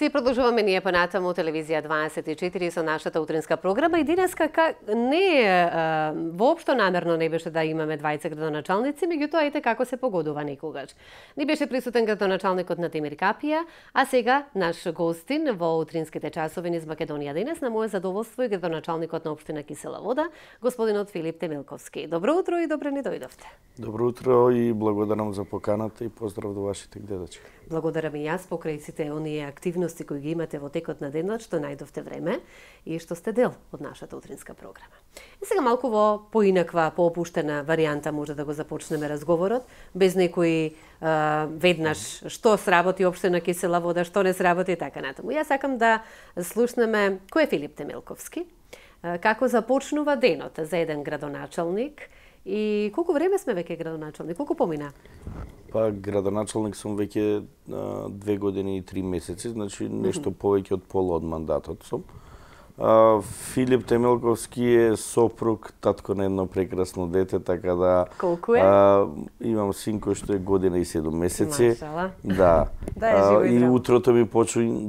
И продолжуваме ние понатаму телевизија 24 со нашата утринска програма и денеска не воопшто намерно не беше да имаме двајца градоначалници, меѓутоа ете како се погодува некогаш. Не беше присутен градоначалникот на Темир Капија, а сега наш гостин во утринските часови низ Македонија денес на мое задоволство е градоначалникот на општина Кисела Вода, господинот Филип Темилковски. Добро утро и добре ни дојдовте. Добро утро и благодарам за поканата и поздрав до вашите гледачи. Благодарам и јас покрај сите оние активности кои ги имате во текот на денот, што најдовте време и што сте дел од нашата утринска програма. И сега малку во поинаква, поопуштена варијанта може да го започнеме разговорот, без некои веднаш што сработи општина Кисела Вода, што не сработи и така натаму. Јас сакам да слушнеме кој е Филип Темилковски, како започнува денот за еден градоначалник и колку време сме веќе градоначалник, колку помина? Па градоначалник сум веќе 2 години и 3 месеци, значи нешто повеќе од пола од мандатот сум. Филип Темилковски е сопруг, татко на едно прекрасно дете, така да... Колку е? Имам син кој што е година и 7 месеци. Машала. Да. Да е живо и здраво. И утрото ми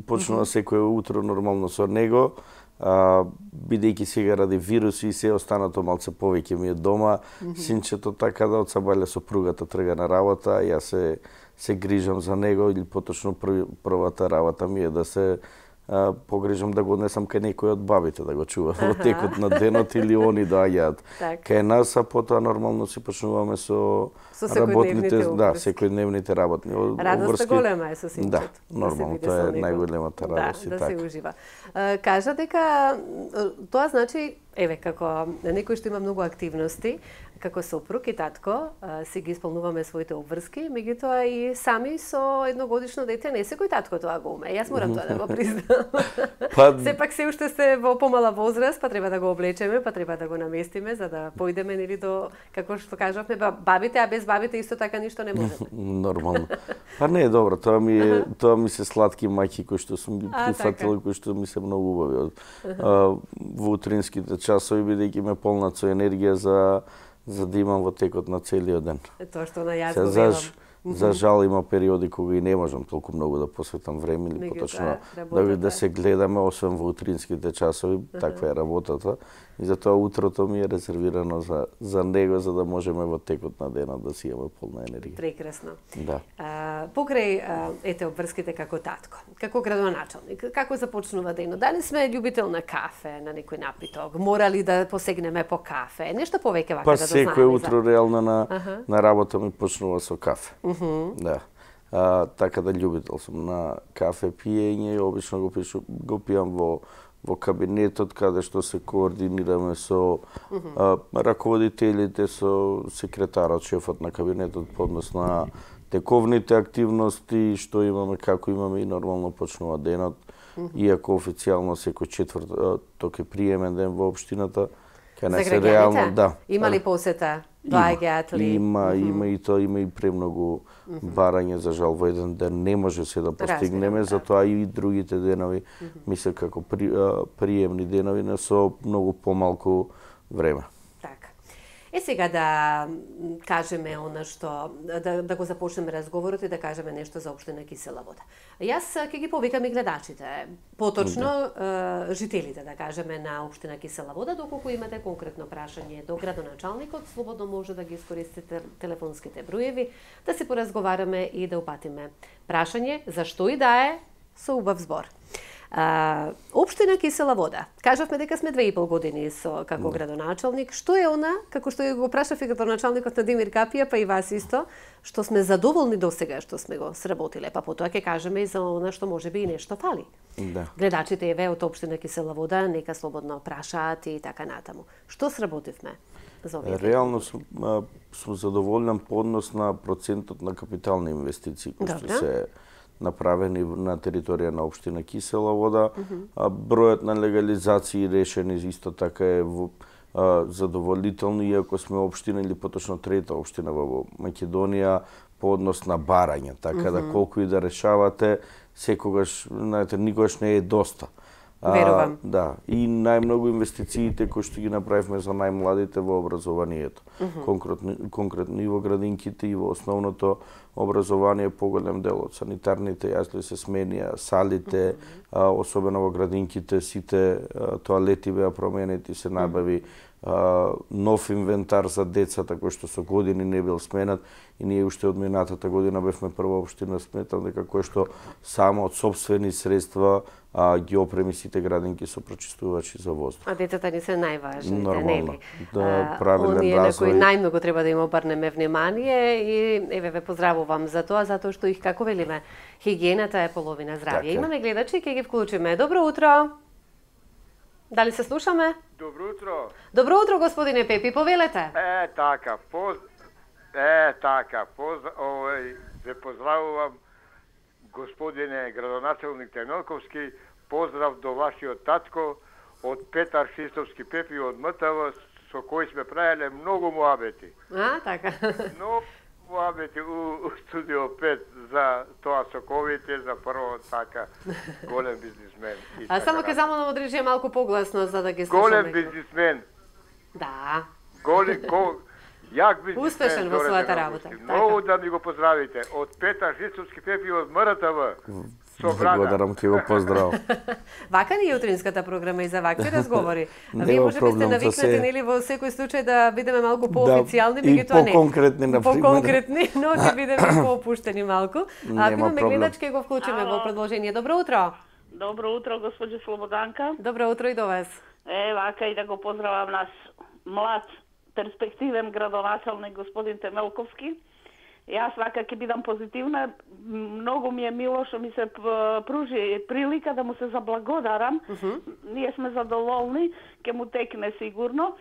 почнува секое утро нормално со него. Бидејќи сега ради вируси и се останато малце повеќе ми е дома, синчето така да од сабаља сопругата трга на работа, јас се грижам за него или поточно првата работа ми е да се погрижам да го однесам кај некој од бабите да го чува во текот на денот или они доаѓаат кај нас, а потоа нормално си почнуваме со работните, да, секојдневните работни обврски. Радоста голема е со синчето. Да, нормално, тоа е најголемата радост и така. така. Да се ужива. Кажа дека тоа значи, еве, како некој што има многу активности, како сопруг и татко, си ги исполнуваме своите обврски, меѓутоа и сами со едногодишно дете не секој татко тоа го уме. Јас морам тоа да го признам. Сепак се уште сте во помала возраст, па треба да го облечеме, па треба да го наместиме за да појдеме нели до, како што кажавме, бабите, а без бабите исто така ништо не можеме. Нормално. Па не е добро, тоа ми се сладки мајки кои што сум ги прифатил, кои што ми се многу убави во утринските часови, бидејќи ме полнат со енергија за да имам во текот на целиот ден. Тоа што на јас го велам. За жал има периоди кога и не можам толку многу да посветам време или поточно да се гледаме, освен во утринските часови, таква е работата. И затоа утрото ми е резервирано за него, за да можеме во текот на денот да си имаме полна енергија. Прекрасно. Да. Покрај ете обврските како татко, како градоначалник, како започнува денот? Дали сме љубител на кафе, на некој напиток? Морали да посегнеме по кафе? Нешто повеќе вака да знаеме? Па секој утро реално на работа ми почнува со кафе. Да. Така да љубител сум на кафе пиење и обично го пијам во кабинетот каде што се координираме со раководителите, со секретарот, шефот на кабинетот по однос на тековните активности што имаме, како имаме и нормално почнува денот. Иако официјално секој четврток е приемен ден во општината, кај нас е реално, да. Има ли посета? Доаѓаат ли? Има и тоа, има и премногу барање, за жал во еден ден не може се да постигнеме, затоа и другите денови мислам како приемни денови не со многу помалку време. Е сега да кажеме она што, да го започнеме разговорот и да кажеме нешто за општина Кисела Вода. Јас ќе ги повикам и гледачите, поточно жителите, да кажеме, на општина Кисела Вода, доколку имате конкретно прашање до градоначалникот, слободно може да ги искористите телефонските броеви, да се поразговараме и да упатиме прашање за што и да е со убав збор. Општина Кисела Вода. Кажавме дека сме 2,5 години како градоначалник. Што е она, како што го прашав и градоначалникот на Темир Капија, па и вас исто, што сме задоволни досега што сме го сработиле, па потоа ќе кажеме и за она што можеби и нешто фали. Да. Гледачите еве од општина Кисела Вода нека слободно прашаат и така натаму. Што сработивме за овие? Реално сум задоволен по однос на процентот на капитални инвестиции кои што се направени на територија на општина Кисела Вода. Бројот на легализации решени исто така е задоволително, иако сме општина или поточно трета општина во Македонија по однос на барање, така да колку и да решавате, секогаш, знаете, никогаш не е доста. Верувам. Да, и најмногу инвестициите кои што ги направивме за најмладите во образованието. Конкретно и во градинките и во основното образование поголем дел од санитарните јасли се сменија, салите, особено во градинките сите тоалети беа променети, се набави нов инвентар за децата кој што со години не бил сменат и ние уште од минатата година бевме прва општина, сметам дека кој што само од сопствени средства ги опреми сите градинки со прочистувачи за воздух. А децата ни се најважни, нормално, да, правилен оние развој. на кои најмногу треба да им обрнеме внимание и еве ве поздравувам за тоа, затоа што их, како велиме, хигиената е половина здравје. Имаме гледачи, ќе ги вклучиме. Добро утро. Дали се слушаме? Добро утро. Добро утро, господине Пепи, повелете. Ве поздравувам, господине градоначалник Темелковски, поздрав до вашиот татко, од Петар Шистовски Пепи од МТВ, со кој сме правеле многу муабети. Така. Многу муабети у студио 5 за тоа соковите, за прво така голем бизнисмен. Само ке замолам да одржи малку погласно за да ги слушаме. Голем бизнисмен. Да. Јак бизнисмен. Успешен во својата работа. Многу да ми го поздравите. Од Петар Шистовски Пепи од МРТВ. Благодарам, ќе го поздрав. Вака ни е утринската програма и за вакви разговори. Вие може би сте навикнати нели во секој случај да бидеме малку поофицијални, меѓутоа не. Поконкретни, например. Поконкретни, но ќе бидеме поопуштени малку. Ако имаме гледач, ќе го вклучиме во продолжение. Добро утро. Добро утро, госпоѓо Слободанка. Добро утро и до вас. Вака и да го поздравам наш млад, перспективен градоначалник господин Темелковски. Јас вака ќе бидам позитивна. Многу ми е мило што ми се пружи прилика да му се заблагодарам. Ние сме задоволни, ќе му текне сигурно.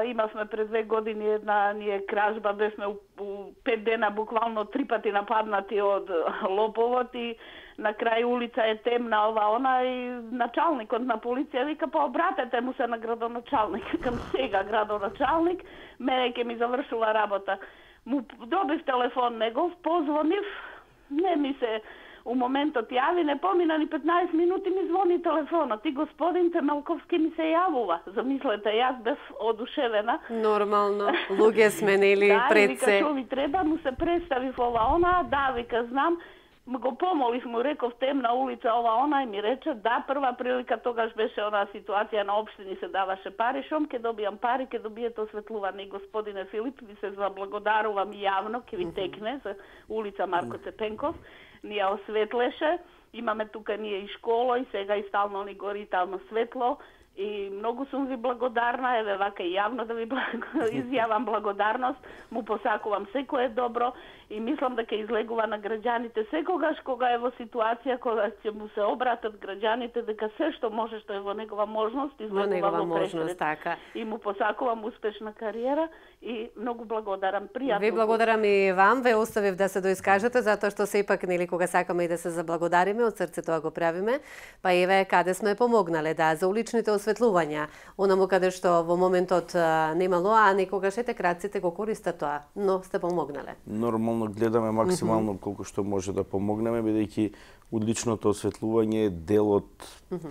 Имавме пред 2 години една кражба, бевме у 5 дена буквално 3 пати нападнати од лоповот и на крај улица е темна она и началникот на полиција вика па обратете му се на градоначалник. Към сега градоначалник, мене ќе ми завршила работа. Му добив телефон негов, позвонив, не ми се у моментот јави, не помина ни 15 минути ми звони телефонот и господин Темелковски ми се јавува. Замислете, јас бев одушевена. Нормално, луѓе сменили пред се. Да, вика, што ви треба, му се представив она, да, вика, знам, го помолив, му реков темна улица она и ми рече да, прва прилика тогаш беше она ситуација на општини се даваше пари, шом ќе добијам пари, ќе добиете осветлување. И господине Филип, ви се заблагодарувам јавно, ќе ви текне за улица Марко Цепенков, ни ја осветлеше, имаме тука ние и школа и сега и стално ни гори таму светло. И многу сум ви благодарна, еве вака и јавно да ви изјавам благодарност, му посакувам секое добро и мислам дека излегува на граѓаните секогаш кога е во ситуација кога ќе му се обратат граѓаните дека се што може што е во негова можност излегува во пресред. Така. И му посакувам успешна кариера и многу благодарам, пријатно. Ви благодарам и вам, ве оставив да се доискажете затоа што сепак нели кога сакаме и да се заблагодариме, од срце тоа го правиме. Па еве каде сме помогнале за уличните осветлувања, онаму каде што во моментот немало, а некогаш ете крадците го користат тоа, но сте помогнале. Нормално гледаме максимално колку што може да помогнеме, бидејќи уличното осветлување е дел од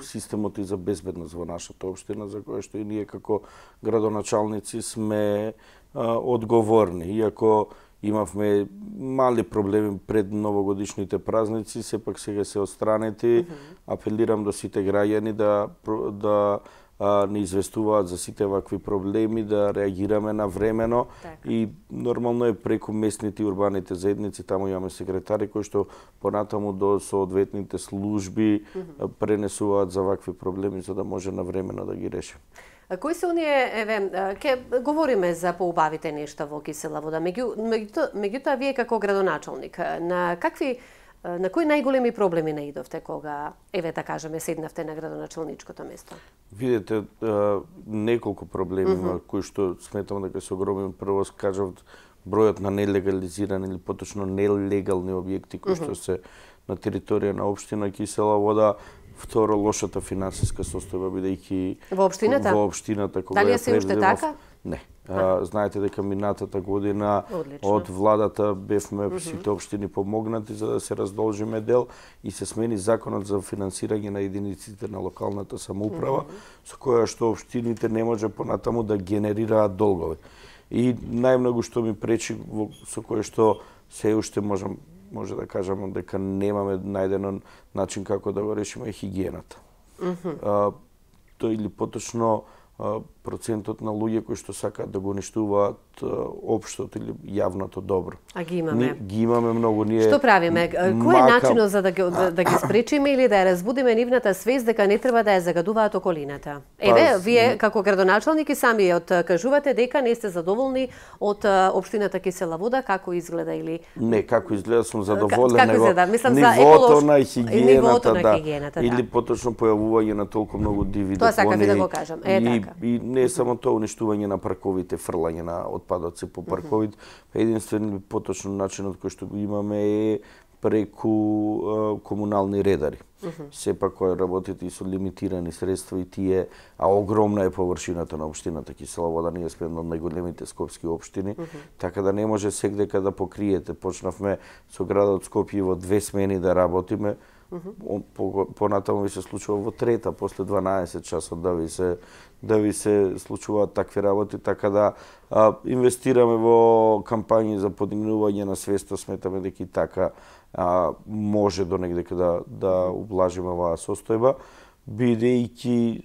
системот и за безбедност во нашата општина, за која што и ние како градоначалници сме одговорни. Иако имавме мали проблеми пред новогодишните празници, сепак сега се отстранети. Апелирам до сите граѓани да не известуваат за сите вакви проблеми, да реагираме навремено и нормално е преку местните и урбаните заедници, таму имаме секретари кои што понатаму до соодветните служби пренесуваат за вакви проблеми за да може навремено да ги реши. Кои се оние, еве, ќе говориме за поубавите нешта во Кисела вода, меѓутоа вие како градоначалник, на кои најголеми проблеми наидовте кога, еве да кажеме, седнавте на градоначалничкото место? Видете, неколку проблеми кои што сметам дека се огромен. Прво кажав бројот на нелегализирани или поточно нелегални објекти кои што се на територија на општина Кисела вода. Второ, лошата финансиска состојба, бидејќи во општината кога дали е се уште така? Не. Знаете дека минатата година од владата бевме сите општини помогнати за да се раздолжиме дел и се смени законот за финансирање на единиците на локалната самоуправа, со која што општините не може понатаму да генерираат долгови. И најмногу што ми пречи, со кое што се уште може да кажам дека немаме најден начин како да го решиме хигиената. Тој или поточно процентот на луѓе кои што сакаат да го уништуваат општото или јавното добро. А ги имаме. Ги имаме многу. Ние што правиме? Кој е начинот за да ги спречиме или да ја разбудиме нивната свест дека не треба да ја загадуваат околината? Еве, вие како градоначалник и самиот кажувате дека не сте задоволни од општината Кисела Вода, како изгледа или не, како изгледа сум задоволен, како изгледа? Мислам нивото за на хигиената, да. Или поточно појавување на толку многу диви тоа сакав и да го кажам. И не само тоа уништување на парковите, фрлање на отпадоци по парковите, единствен поточно начинот кој што го имаме е преку комунални редари. Сепак кои работат и со лимитирани средства и тие, а огромна е површината на општината Кисела Вода, ние сме една од најголемите скопски општини, така да не може секдека да покриете. Почнавме со градот Скопје во 2 смени да работиме, понатаму ви се случува во трета, после 12 часот да ви се случуваат такви работи, така да инвестираме во кампањи за подигнување на свеста, сметаме дека и така може до негде да ублажиме оваа состојба, бидејќи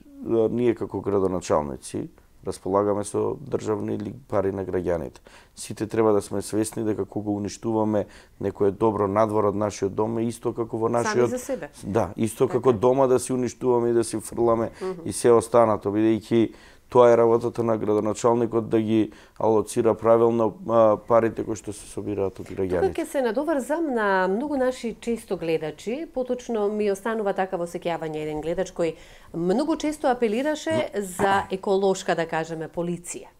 ние како градоначалници располагаме со државни или пари на граѓаните. Сите треба да сме свесни дека кога уништуваме некое добро надвор од нашиот дом е исто како во нашиот... Сами за себе. Да, исто како дома да си уништуваме и да си фрламе и се останато, бидејќи тоа е работата на градоначалникот да ги алоцира правилно парите кои што се собираат од граѓаните. Тука ќе се надоврзам на многу наши често гледачи, поточно ми останува такаво сеќавање еден гледач кој многу често апелираше за еколошка, да кажеме, полиција.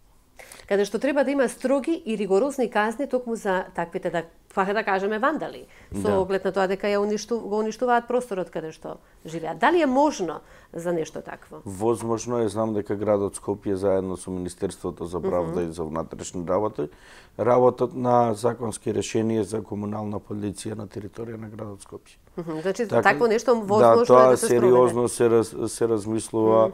Каде што треба да има строги и ригорозни казни токму за таквите, да кажеме, вандали, со оглед на тоа дека го уништуваат просторот каде што живеат. Дали е можно за нешто такво? Возможно е, знам дека градот Скопје заедно со Министерството за правда и за внатрешни работи работат на законски решение за комунална полиција на територија на градот Скопје. Значи, такво нешто возможно тоа е да се спроведе. сериозно се размислува,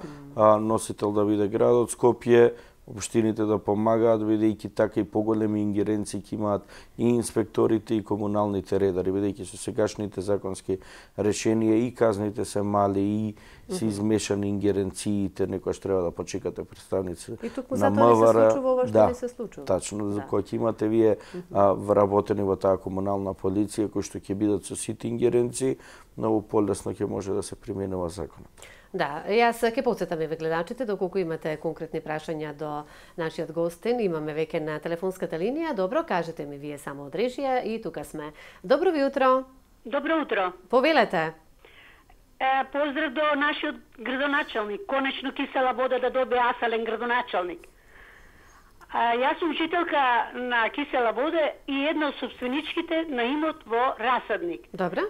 носител да биде градот Скопје, општините да помагаат, бидејќи така и поголеми ингеренции ќе имаат и инспекторите и комуналните редари, бидејќи со сегашните законски решенија и казните се мали и се измешани ингеренциите, некојаш треба да почекате представници на МВР. Да, не се случува. Тачно, за кој ќе имате вие вработени во таа комунална полиција, кои што ќе бидат со сите ингеренции, многу полесно ќе може да се применува законот. Да, јас ќе потсетам еве гледачите, доколку имате конкретни прашања до нашиот гостин, имаме веќе на телефонската линија. Добро, кажете ми вие само од режија и тука сме. Добро ви утро. Добро утро. Повелете. Поздрав до нашиот градоначалник. Конечно Кисела Вода да добие асален градоначалник. Јас сум учителка на Кисела Вода и една од собственичките на имот во Расадник. Добро.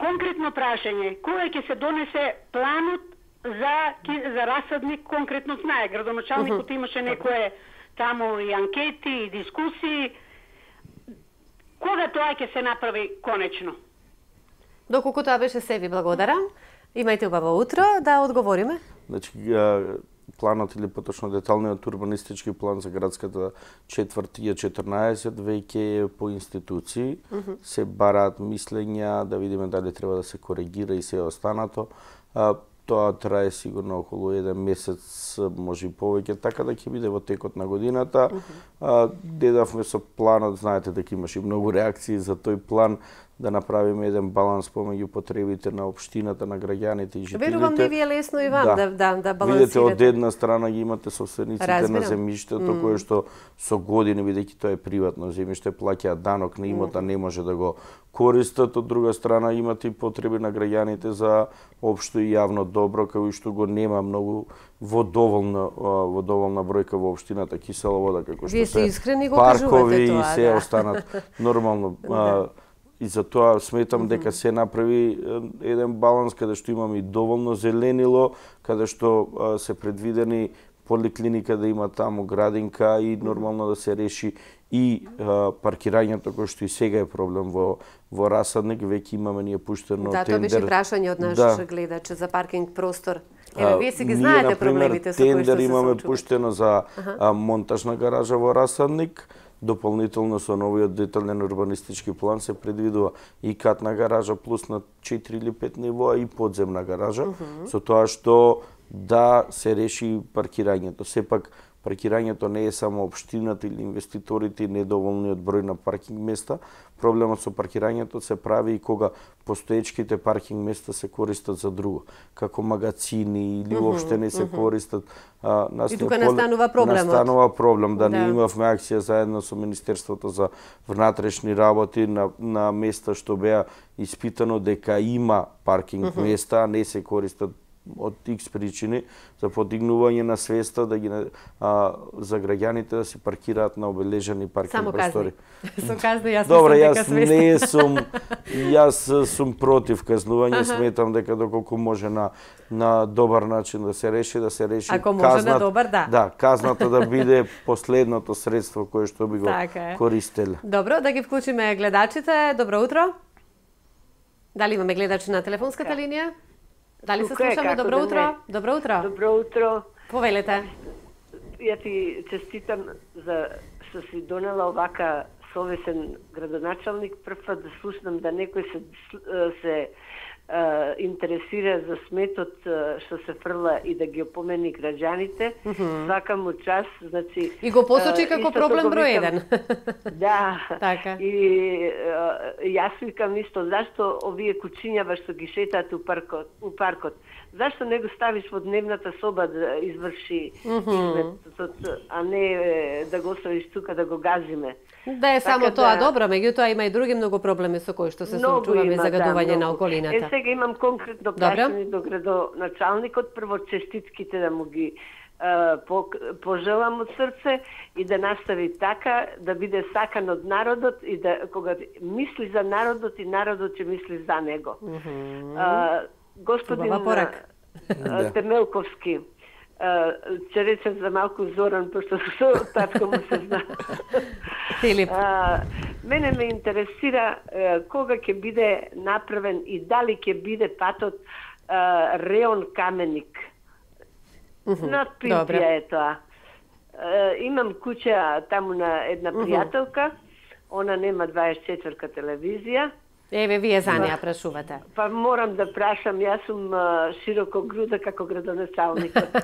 Конкретно прашање, кога ќе се донесе планот за Расадник, конкретно знае, градоначалникот имаше некое таму и анкети, и дискусии. Кога тоа ќе се направи конечно? Доколку тоа беше се, ви благодарам. Имајте убаво утро, да одговориме. Значи, планот или поточно деталниот урбанистички план за градската четврт е 14, веќе е по институции, се бараат мислења, да видиме дали треба да се коригира и се останато. Тоа трае сигурно околу 1 месец, може и повеќе, така да ќе биде во текот на годината. Дедавме со планот, знаете дека имаше многу реакции за тој план, да направиме еден баланс помеѓу потребите на општината, на граѓаните и жителите. Верувам да ви е лесно и вам да балансирате. Видете, од една страна ги имате собствениците на земјиштето, кои што со години, бидејќи тоа е приватно земјиште, плаќаат данок на имота, не може да го користат. Од друга страна имате и потреби на граѓаните за општо и јавно добро, кај што го нема многу во доволна бројка во општината Кисела Вода, како што се паркови и се останат нормално. И за тоа сметам дека се направи еден баланс каде што имаме и доволно зеленило, каде што се предвидени поликлиника да има таму градинка и нормално да се реши и паркирањето кој што и сега е проблем во Расадник, веќе имаме ние пуштено тендер. Да, тоа беше прашање од наш гледач за паркинг простор. Вие си ги знаете проблемите со кои што се тендер имаме пуштено за монтажна гаража во Расадник. Дополнително со новиот детален урбанистички план се предвидува и катна гаража плюс на 4 или 5 нивоа и подземна гаража, со тоа што да се реши паркирањето. Сепак паркирањето не е само општината или инвеститорите и недоволниот број на паркинг места. Проблемот со паркирањето се прави и кога постоечките паркинг места се користат за друго, како магазини или уопште не се користат. И тука настанува проблемот. Настанува проблем, да не имавме акција заедно со Министерството за внатрешни работи на места што беа испитано дека има паркинг места, а не се користат од X причини, за подигнување на свеста за граѓаните да си паркираат на обележани паркинг простори. Со казни јас Добре, јас сум против казнување, сметам дека доколку може на добар начин да се реши, ако може на добар, да, казната да биде последното средство кое што би го користеле. Добро, да ги вклучиме гледачите. Добро утро. Дали имаме гледач на телефонската линија? Дали се слушаме? Добро утро. Добро утро. Добро утро. Повелете. Ја ти честитам за што си донела овака совесен градоначалник. Прв пат да слушнам да некој се интересира за сметот што се фрла и да ги опомени граѓаните. Свака му час, значи и го посочи како проблем број 1. Да. Така. И јас викам исто, зашто овие кучињава што ги шетаат у паркот, зашто не го ставиш во дневната соба да изврши изметот, а не да го оставиш тука да го газиме. Да е само тоа добро, меѓутоа има и други многу проблеми со кои што се соочуваме, загадување на околината. Сега имам конкретно прашање до градоначалникот. Прво честитките да му ги пожелам од срце и да настави така, да биде сакан од народот и да кога мисли за народот и народот ќе мисли за него. Господин Темелковски, ќе речем за малку Зоран, пошто со татко му се зна. Филип. Мене ме интересира кога ќе биде направен и дали ќе биде патот Реон Каменик. Над Пимпија е тоа. Имам куќа таму на една пријателка, она нема 24-ка телевизија. Еве, вие за неја прашувате. Па морам да прашам, јас сум широко груда како градоначалникот.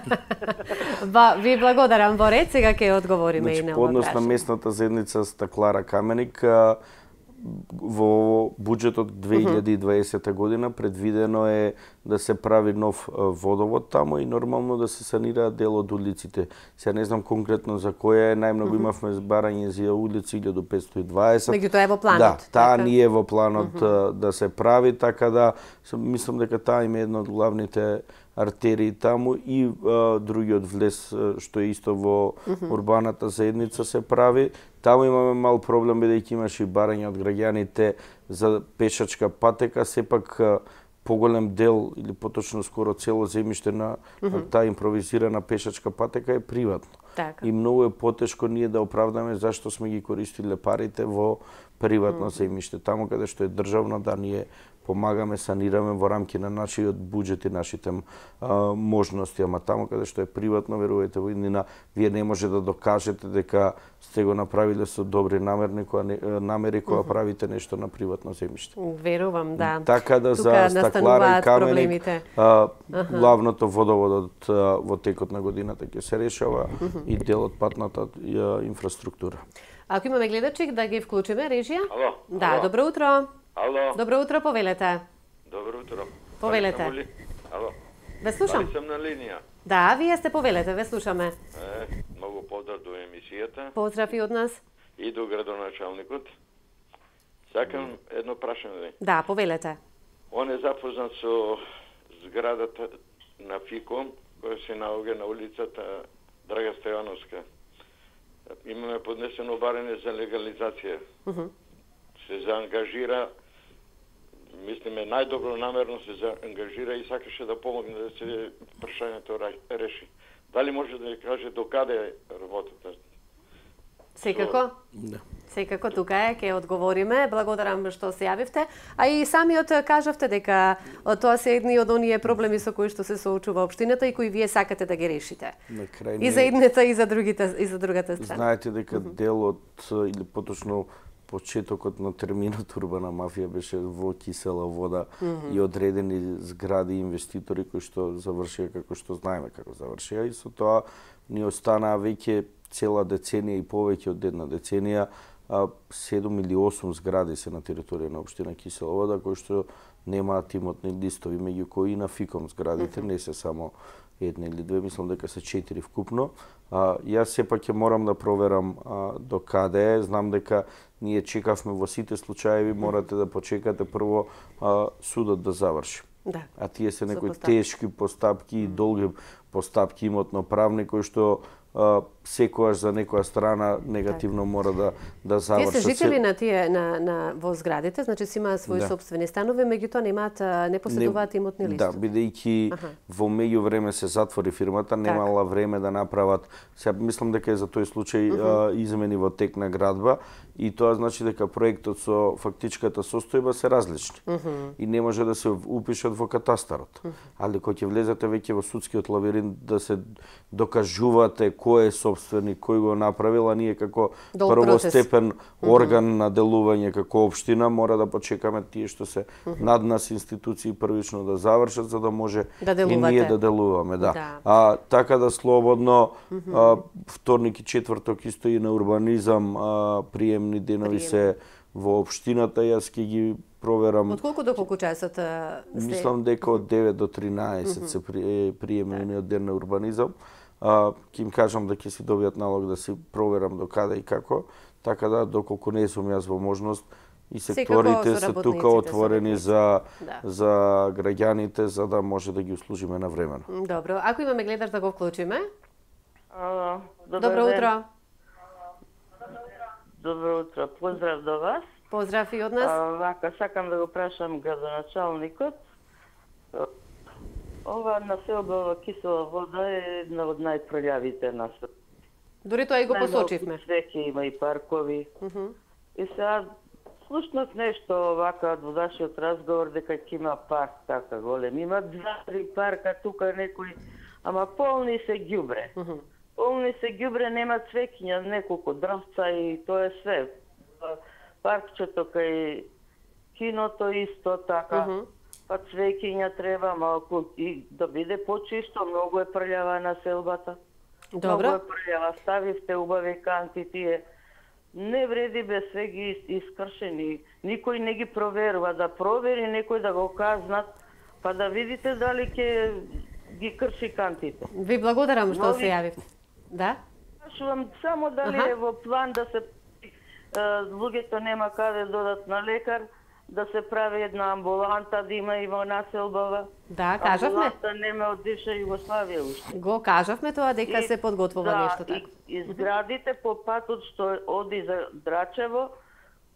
Ви благодарам, во ред, сега ќе одговориме и на ова прашање. Однос на местната заедница Стаклара Каменик, во буџетот 2020 година предвидено е да се прави нов водовод таму и нормално да се санираат дел од улиците. Се не знам конкретно за која е, најмногу имавме барање за улици 1520. Меѓутоа е во планот. Да, таа не е во планот да се прави, така да мислам дека таа има една од главните артерии таму и другиот влез што е исто во урбаната заедница се прави. Таму имаме мал проблем бидејќи имаше и барање од граѓаните за пешачка патека, сепак поголем дел или поточно скоро цело земјиште на таа импровизирана пешачка патека е приватно. Така. И многу е потешко ние да оправдаме зашто сме ги користиле парите во приватно земјиште. Таму каде што е државно, да ние помагаме, санираме во рамки на нашиот буџет и нашите можности, ама таму каде што е приватно, верувајте во иднина, вие не може да докажете дека сте го направиле со добри намери кога правите нешто на приватно земјиште. Верувам, да. Така да за Стаклара и Каменик, главното водоводот во текот на годината ќе се решава и дел од патната инфраструктура. Ако имаме гледачи, да ги вклучиме, режија? Ало. Да, ало. добро утро. Ало. Добро утро, повелете. Добро утро. Повелете. Ало. Ве слушам. Дали сам на линија? Да, вие сте повелете, ве слушаме. Многу поздрав до емисијата. Поздрав и од нас. И до градоначалникот. Сакам едно прашање. Да, повелете. Он е запознат со зградата на ФИКО, која се наоѓа на улицата Драга Стојановска. Имаме поднесено барање за легализација. Се заангажира, мислиме, најдобро намерно се заангажира и сакаше да помогне да се прашањето реши. Дали може да ни каже до каде е работата? Секако. Да. Секако тука е, ќе одговориме. Благодарам што се јавивте. А и самиот кажавте дека тоа се едни од оние проблеми со кои што се соочува општината и кои вие сакате да ги решите. И за едната и за другата страна. Знаете дека дел од или поточно почетокот на терминот урбана мафија беше во кисела вода и одредени згради инвеститори кои што завршија како што знаеме како завршија и со тоа ни останаа веќе цела деценија и повеќе од една деценија 7 или 8 згради се на територија на општина Кисела вода кои што немаат имотни листови, меѓу кои и на ФИКОМ зградите не се само една или две, мислам дека се 4 вкупно. Јас сепак ќе морам да проверам до каде е. Знам дека ние чекавме во сите случаи, морате да почекате прво судот да заврши. Да. А тие се некои тешки постапки и долги постапки имотно-правни кои што секогаш за некоја страна негативно мора да завршат. Тие се жители на тие во зградите, значи си имаат своји сопствени станови, меѓутоа не поседуваат имотни листови. Да, бидејќи во меѓувреме се затвори фирмата, немала време да направат. Сега мислам дека е за тој случај измени во тек на градба и тоа значи дека проектот со фактичката состојба се различни. И не може да се упишат во катастарот. Али кога ќе влезете веќе во судскиот лабиринт да се докажувате кој е собственик, кој го направил, а ние како првостепен орган на делување како општина мора да почекаме тие што се над нас институции првично да завршат за да може и ние да делуваме, да. Така да слободно вторник и четврток исто и на урбанизам приемни денови се во општината, јас ќе ги проверам. Од колку до колку часот Мислам дека од 9 до 13 се приемниот ден на урбанизам. Ќе им кажам да ќе си добијат налог да си проверам до каде и како, така да доколку не сум јас во можност и секторите се тука отворени за граѓаните за да може да ги услужиме на време. Добро, ако имаме гледач да го вклучиме. Добро утро. Добро утро, поздрав до вас. Поздрав и од нас. Вака, сакам да го прашам градоначалникот. Ова населба во Кисела вода е една од најпрољавите на свет. Дури тоа и го посочивме. Свеќе има и паркови. И сега слушнав нешто вака од водашиот разговор дека ќе има парк така голем. Има 2-3 парка тука некои, ама полни се ѓубре. Полни се ѓубре, нема цвеќиња, неколку дрвца и тоа е све. Паркчето кај киното исто така. Па цвеќиња треба малку и да биде почисто, многу е прљава населбата. Добро. Многу е прљава, ставивте убави канти тие. Не вреди без све ги искршени. Никој не ги проверува, да провери некој да го казнат, па да видите дали ќе ги крши кантите. Ви благодарам што се јавивте. Да? Прашувам само дали е во план да се луѓето нема каде додат на лекар, да се прави една амбуланта, да има и во населбава. Да, кажавме. Амбуланта нема од бивша Југославија уште. Го кажавме тоа дека се подготвува нешто така. И зградите по патот што оди за Драчево,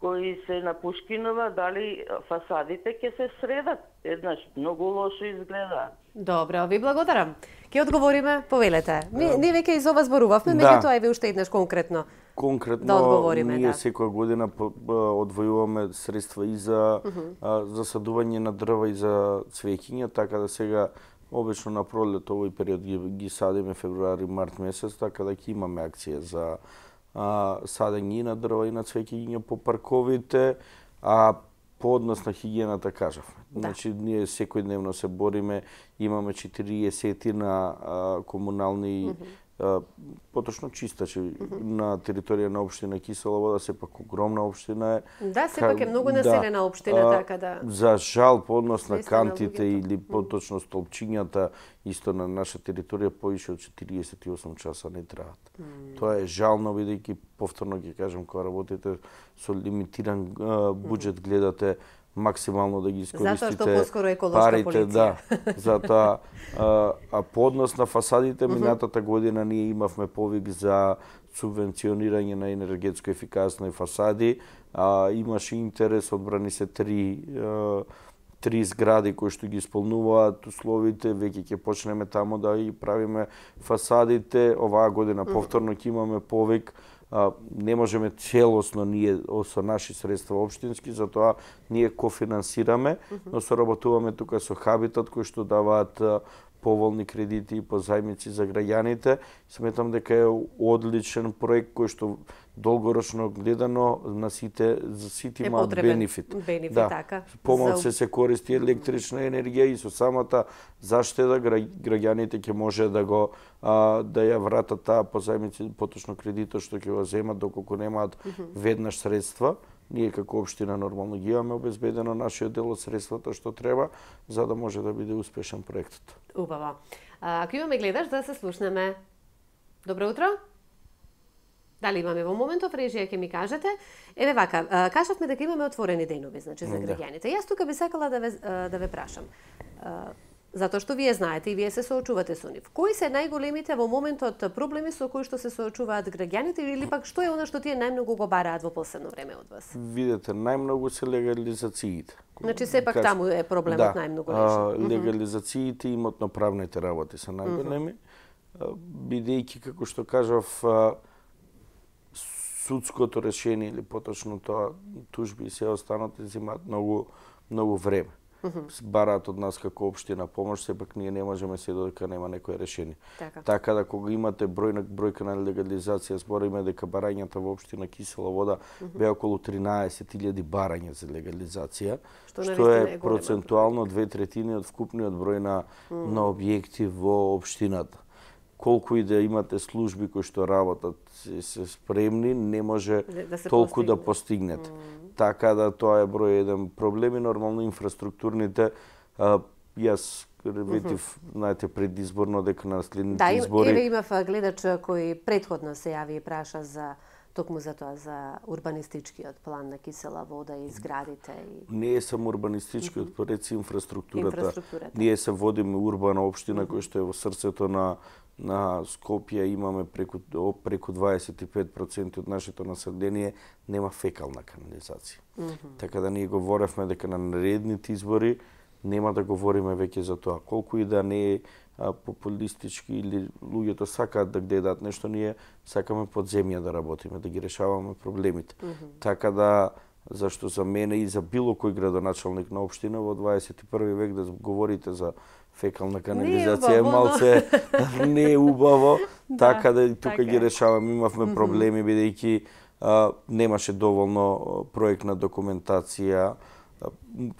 кои се на Пушкинова, дали фасадите ќе се средат. Еднаш многу лошо изгледа. Добро, ви благодарам. Ќе одговориме, повелете. Ние веќе из ова зборувавме, меѓутоа еве уште еднаш конкретно. Конкретно, ние секоја година одвојуваме средства и за засадување на дрва и за цвеќиња, така да сега обично на пролет овој период ги садиме февруари, март месец, така да ќе имаме акција за садење и на дрва и на цвеќиња по парковите, а по однос на хигиената кажавме. Значи, ние секојдневно се бориме, имаме 40 на комунални поточно чистачи на територија на општина Кисела вода, сепак огромна општина е. Да, сепак е многу населена општина, така да. За жал по однос на кантите или поточно столпчињата исто на наша територија повише од 48 часа не траат. Тоа е жално бидејќи повторно ќе кажам кога работите со лимитиран буџет гледате максимално да ги искористите. Затоа што поскоро еколошка полиција. Да, затоа по однос на фасадите минатата година ние имавме повик за субвенционирање на енергетско ефикасни фасади, имаше интерес, одбрани се 3 3 згради кои што ги исполнуваат условите, веќе ќе почнеме таму да ги правиме фасадите. Оваа година повторно ќе имаме повик. Не можеме целосно ние со наши средства општински, затоа ние кофинансираме, но соработуваме тука со Хабитат кои што даваат поволни кредити и позајмици за граѓаните. Сметам дека е одличен проект кој што долгорочно гледано за сите имаат бенефит. Така. Помалку се користи електрична енергија и со самата заштеда граѓаните ќе може да ја вратат таа позајмици, поточно кредитот што ќе го земат доколку немаат веднаш средства. Ние како општина нормално ги имаме обезбедено нашиот дел од средствата што треба за да може да биде успешен проектот. Убаво. Ако имаме гледаш да се слушнеме. Добро утро. Дали имаме во моментов режија ќе ми кажете? Еве вака, кажавме дека имаме отворени денови, значи за граѓаните. Јас тука би сакала да ве прашам. Затоа што вие знаете и вие се соочувате со нив. Кои се најголемите во моментот проблеми со кои што се соочуваат граѓаните или пак што е она што тие најмногу го бараат во последно време од вас? Видете, најмногу се легализациите. Значи сепак таму е проблемот најмногу решен. Легализациите и имотно-правните работи се најголеми, бидејќи како што кажав судското решение или поточно тоа тужби и се останати земаат многу време. Бараат од нас како општина помош, сепак ние не можеме се додека нема некое решение. Така да кога имате бројка на легализација, збориме дека барањата во општина Кисела Вода беа околу 13.000 барања за легализација, што е процентуално 2/3 од вкупниот број на објекти во општината. Колку и да имате служби кои што работат се спремни, не може толку да постигнете. Така да тоа е број еден проблем и нормално инфраструктурните, јас ветив, знаете, предизборно дека на следните избори... Да, еве имав гледач кој претходно се јави и праша за токму за тоа, за урбанистичкиот план на Кисела Вода и зградите. Не е само урбанистичкиот, реци инфраструктурата. Ние се водиме урбана општина која што е во срцето на Скопје, имаме преку 25% од нашето население нема фекална канализација. Така да ние говоревме дека на наредните избори нема да говориме веќе за тоа. Колку и да не е популистички или луѓето сакаат да гледаат нешто, ние сакаме под земја да работиме, да ги решаваме проблемите. Така да, зашто за мене и за било кој градоначалник на општина во 21 век да говорите за фекална канализација е малце не е убаво, така да и тука ги решаваме. Имавме проблеми бидејќи немаше доволно проектна документација.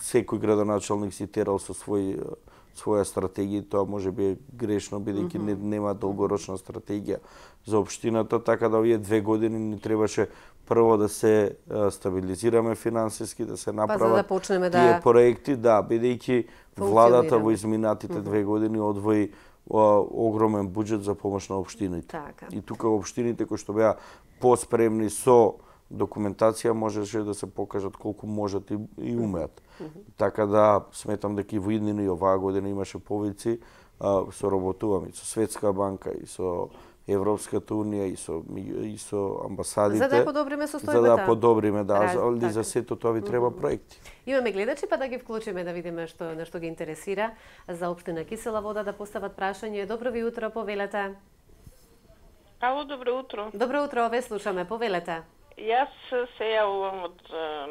Секој градоначалник си терал со своја стратегија, тоа може би е грешно бидејќи нема долгорочна стратегија за општината, така да овие 2 години ни требаше прво да се стабилизираме финансиски, да се направат тие проекти, бидејќи владата во изминатите 2 години одвои огромен буџет за помош на општините. И тука општините кои што беа поспремни со документација можеше да се покажат колку можат и умеат. Така да сметам дека и во иднина и оваа година имаше повици, соработуваме со Светска банка и со Европската унија и со амбасадите. За да подобриме состојбата. За да подобриме, ali за сето тоа ви треба проекти. Имаме гледачи, па да ги вклучиме да видиме што ги интересира за општина Кисела Вода да постават прашање. Добро ви утро, повелете. Ало, добро утро. Добро утро, ве слушаме, повелете. Јас се јавувам од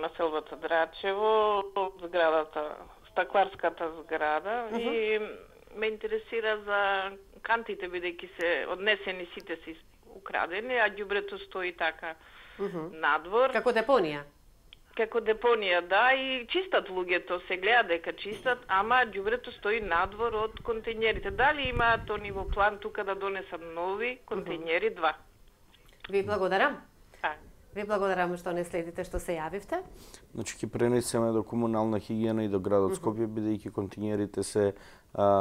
населбата Драчево, од зградата, стакларската зграда и ме интересира за кантите, бидејќи се однесени сите се украдени, а ѓубрето стои така надвор. Како депонија? Како депонија, да, и чистат луѓето, се гледа дека чистат, ама ѓубрето стои надвор од контејнерите. Дали имаат они во план тука да донесат нови контејнери 2? Ви благодарам. Ви благодарам што не следите, што се јавивте. Значи, ќе пренесеме до комунална хигиена и до градот Скопје, бидејќи контејнерите се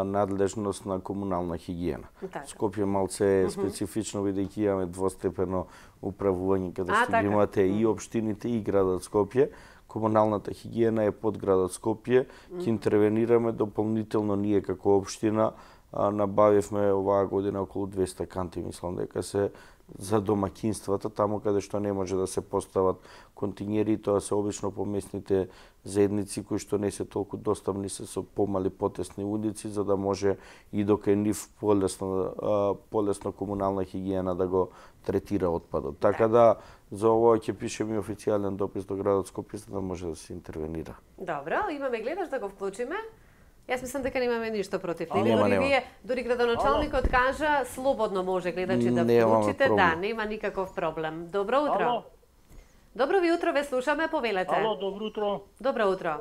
надлежност на комунална хигиена. Скопје малце е специфично, бидејќи имаме двостепено управување, каде што ги имате и општините и градот Скопје. Комуналната хигиена е под градот Скопје. Ќе интервенираме дополнително ние како општина набавивме оваа година околу 200 канти, мислам дека се за домаќинствата, таму каде што не може да се постават континери, тоа се обично по местните заедници кои што не се толку достапни, се со помали потесни улици, за да може и дока нив полесно комунална хигиена да го третира отпадот. Така да за ова ќе пишеме официјален допис до градот Скопје за да може да се интервенира. Добро, имаме гледач да го вклучиме. Јас мислам дека немаме ништо против него. Дури градоначалникот кажа слободно може гледачи да вклучите, да, нема никаков проблем. Добро утро. Ало. Добро ви утро, ве слушаме, повелете. Ало, добро утро. Добро утро.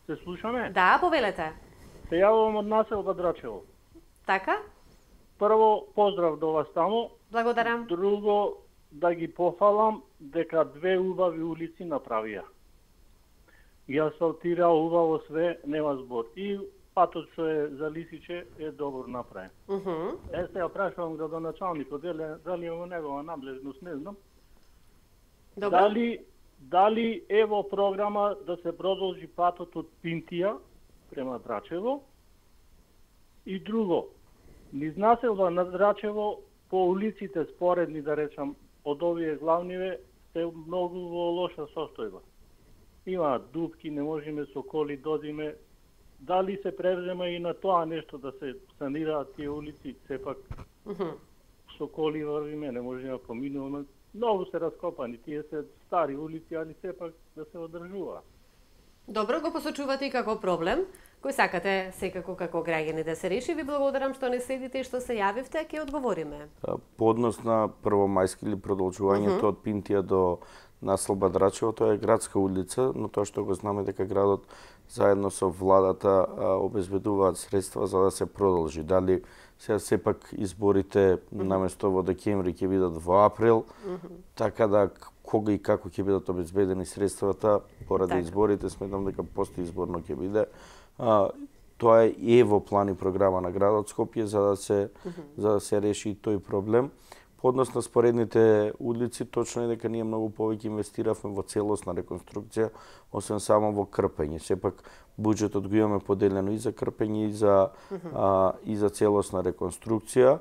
Се слушаме? Да, повелете. Се јавувам од населба Драчево. Така? Прво, поздрав до вас таму. Благодарам. Друго, да ги пофалам дека две убави улици направија. И асфалтира убаво све, нема збор. И патот што е за Лисиче е добро направен. Сега прашувам градоначалникот, дали е во негова надлежност, не знам. Дали е во програма да се продолжи патот од Пинтија према Драчево? И друго, низ населба на Драчево по улиците споредни, да речам, од овие главниве, се многу во лоша состојба. Има дупки, не можеме со коли додиме. Дали се превзема и на тоа нешто да се санираат тие улици, сепак со коли врвиме, не можеме да поминуваме. Многу се раскопани, тие се стари улици, али сепак да се одржуваат. Добро, го посочувате и како проблем, кој сакате секако како граѓани да се реши. Ви благодарам што не следите и што се јавивте, ќе одговориме. По однос на Првомајски или продолжувањето од Пинтија до населба Драчево, тоа е градска улица, но тоа што го знаме дека градот заедно со владата обезбедуваат средства за да се продолжи. Дали сега сепак изборите наместо во декември ќе бидат во април, така да кога и како ќе бидат обезбедени средствата поради изборите, сметам дека постизборно ќе биде. Тоа е во план и програма на градот Скопје за да се реши и тој проблем. По однос на споредните улици, точно е дека ние многу повеќе инвестиравме во целосна реконструкција, освен само во крпење. Сепак буџетот го имаме поделено и за крпење и за целосна реконструкција.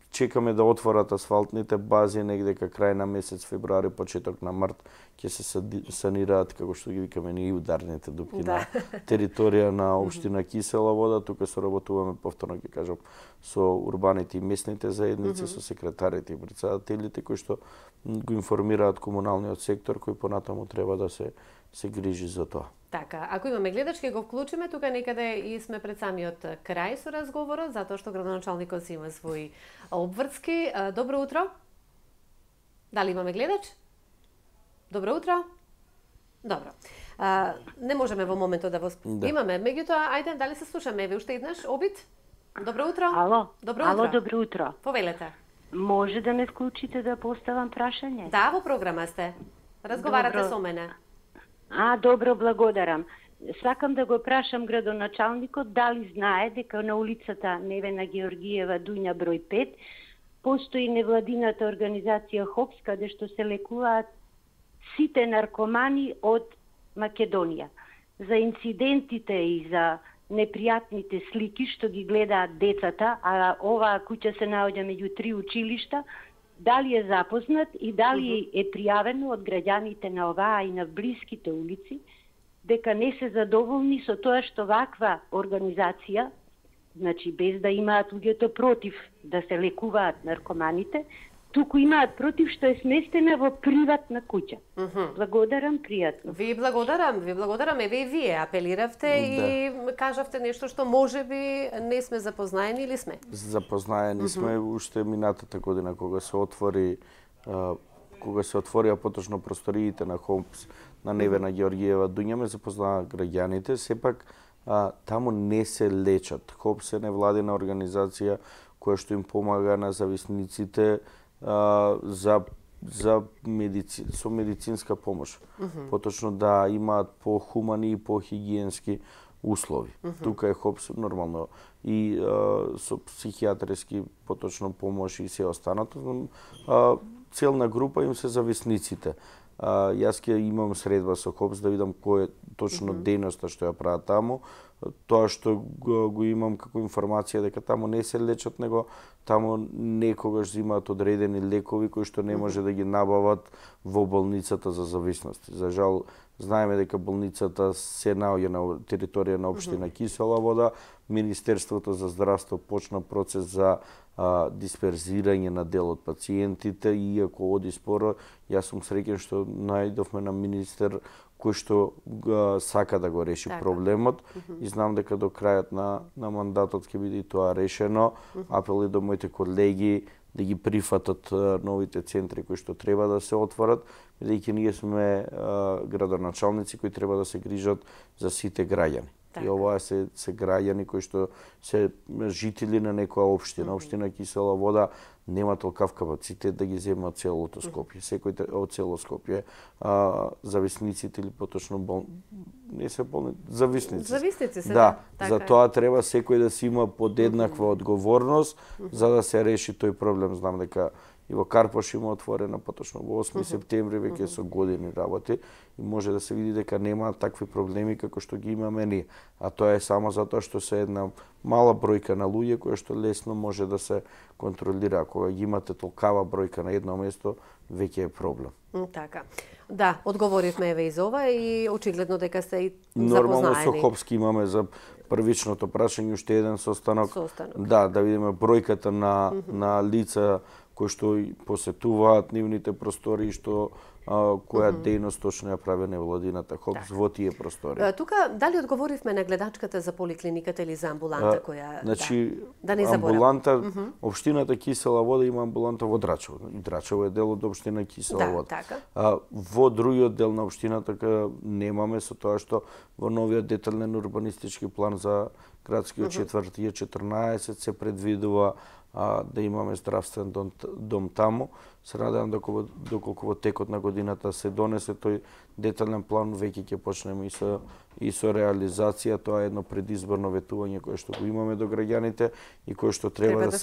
Чекаме да отворат асфалтните бази негде крај на месец февруари, почеток на март ќе се санираат, како што ги викаме ние, ударните дупки на територија на општина Кисела Вода. Тука соработуваме, повторно ќе кажам, со урбаните и местните заедници, со секретарите и председателите кои што го информираат комуналниот сектор кој понатаму треба да се грижи за тоа. Така, ако имаме гледач, ќе го вклучиме, тука некаде и сме пред самиот крај со разговорот, затоа што градоначалникот си има своји обврски. Добро утро. Дали имаме гледач? Добро утро. Добро. Не можеме во моментот да имаме, меѓутоа, ајде, дали се слушаме? Еве уште еднаш, обид? Добро утро. Ало. Добро утро. Ало, добро утро. Повелете. Може да ме вклучите да поставам прашање? Да, во програма сте. Разговарате со мене. Добро, благодарам. Сакам да го прашам градоначалникот дали знае дека на улицата Невена Георгиева Дуња број 5 постои невладината организација ХОПС, каде што се лекуваат сите наркомани од Македонија. За инцидентите и за непријатните слики што ги гледаат децата, а оваа куќа се наоѓа меѓу 3 училишта, дали е запознат и дали е пријавено од граѓаните на оваа и на блиските улици, дека не се задоволни со тоа што ваква организација, значи без да имаат луѓето против да се лекуваат наркоманите, туку имаат против што е сместена во приватна куќа. Благодарам, пријатно. Ви благодарам, еве и вие апелиравте и кажавте нешто што можеби не сме запознаени или сме? Запознаени сме уште минатата година кога се отворија поточно просториите на ХОПС на Невена Георгиева Дуња, ме запознаа граѓаните, сепак таму не се лечат. ХОПС е невладина организација која што им помага на зависниците со медицинска помош. Поточно да имаат по-хумани и по-хигиенски услови. Тука е ХОПС нормално и со психијатриски поточно помош и се останато. целна група им се зависниците. Јас ќе имам средба со ХОПС да видам кој е точно дејноста што ја прават таму. Тоа што го имам како информација дека таму не се лечат, него таму некогаш взимаат одредени лекови кои што не може да ги набават во болницата за зависности. За жал, знаеме дека болницата се наоѓа на територија на општина Кисела Вода. Министерството за здравство почна процес за дисперзирање на дел од пациентите, иако оди споро, јас сум среќен што најдовме на министер кој што сака да го реши проблемот и знам дека до крајот на мандатот ќе биде и тоа решено. Апел и до моите колеги да ги прифатат новите центри кои што треба да се отворат, бидејќи ние сме градоначалници кои треба да се грижат за сите граѓани. И оваа се граѓани кои што се жители на некоја општина. Општина Кисела Вода нема толкав капацитет да ги земат целото Скопје. Секој од цело Скопје, зависниците или поточно не се болни, зависници. Зависници се, да. За тоа треба секој да си има подеднаква одговорност за да се реши тој проблем. Знам дека и во Карпош има отворена поточно во 8 септември, веќе со години работи и може да се види дека нема такви проблеми како што ги имаме ние. А тоа е само затоа што се една мала бројка на луѓе која што лесно може да се контролира. Кога ги имате толкава бројка на едно место, веќе е проблем. Така. Да, одговоривме еве и за ова и очигледно дека сте и запознаени. Нормално со ХОПС имаме за првичното прашање уште еден состанок. Да видиме бројката на лица кои што посетуваат нивните простори, што која дејност точно ја прави невладината ХОПС во тие простори. Тука дали одговоривме на гледачката за поликлиниката или за амбуланта која да не амбуланта, општината Кисела Вода има амбуланта во Драчево. Драчево е дел од општина Кисела Вода. Во другиот дел на општината немаме, со тоа што во новиот детален урбанистички план за градскиот четвртија 14 се предвидува да имаме здравствен дом таму. Се надевам доколку во текот на годината се донесе тој детален план, веќе ќе почнеме и со реализација. Тоа е едно предизборно ветување кое што го имаме до граѓаните и кое што треба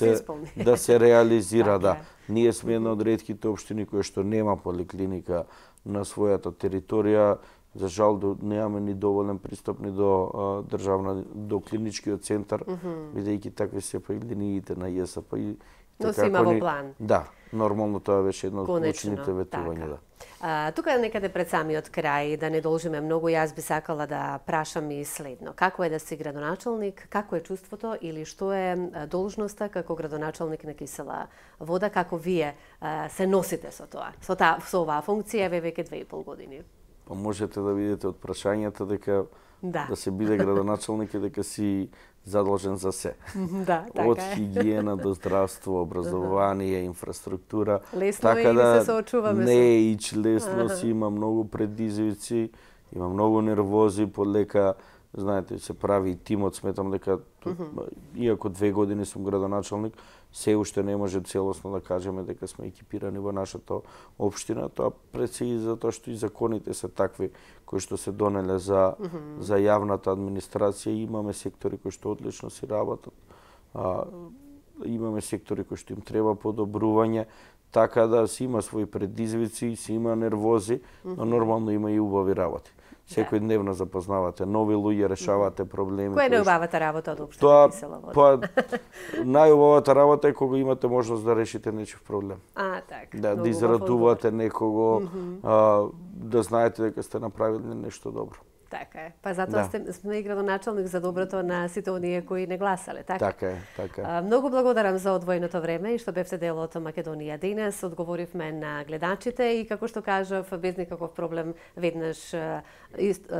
да се реализира. Да. Ние сме една од ретките општини кои што нема поликлиника на својата територија. За жал немаме ни доволен пристап ни до клиничкиот центар, бидејќи такви се па и линиите на ЈСП и но се има во план. Да, нормално тоа беше едно од клучните ветувања. Тука некаде пред самиот крај, да не должиме многу, јас би сакала да прашам и следно. Како е да си градоначалник, како е чувството или што е должноста како градоначалник на Кисела Вода, како вие се носите со тоа, со оваа функција веќе 2,5 години? Па можете да видите од прашањата дека да се биде градоначалник и дека си задолжен за се. Од хигиена до здравство, образование, инфраструктура. Лесно така да се соочуваме. Не е ич лесно, си има многу предизвици, има многу нервози, полека, знаете, се прави и тимот, сметам дека иако 2 години сум градоначалник, се уште не може целосно да кажеме дека сме екипирани во нашата општина, тоа пред се и затоа што и законите се такви кои што се донеле за јавната администрација. Имаме сектори кои што одлично си работат, имаме сектори кои што им треба подобрување, така да си има своји предизвици, си има нервози, но нормално има и убави работи. Секој дневно запознавате нови луѓе, решавате проблеми. Која е најубавата работа од општина Кисела Вода? Па најубавата работа е кога имате можност да решите нечив проблем. Така. Да израдувате некого, да знаете дека сте направиле нешто добро. Така е. Па затоа сме и градоначалник за доброто на сите оние кои не гласале, така? Така е. Многу благодарам за одвоеното време и што бевте дел од Македонија денес. Одговоривме на гледачите и како што кажав, без никаков проблем веднаш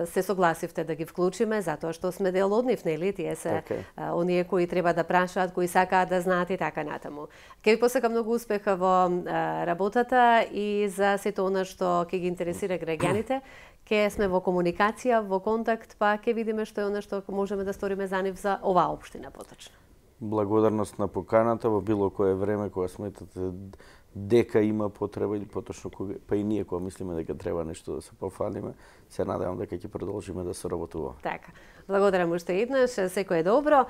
се согласивте да ги вклучиме, затоа што сме дел од нив, нели? Тие се оние кои треба да прашаат, кои сакаат да знаат и така натаму. Ке ви посакам многу успеха во работата и за сето она што ќе ги интересира граѓаните. Ке сме во комуникација, во контакт, па ќе видиме што е она што можеме да сториме за нив за оваа општина поточно. Благодарност на поканата во било кое време кога сметате дека има потреба или поточно кога, па и ние кога мислиме дека треба нешто да се пофалиме, се надевам дека ќе продолжиме да соработуваме. Така. Благодарам уште еднаш, секое добро.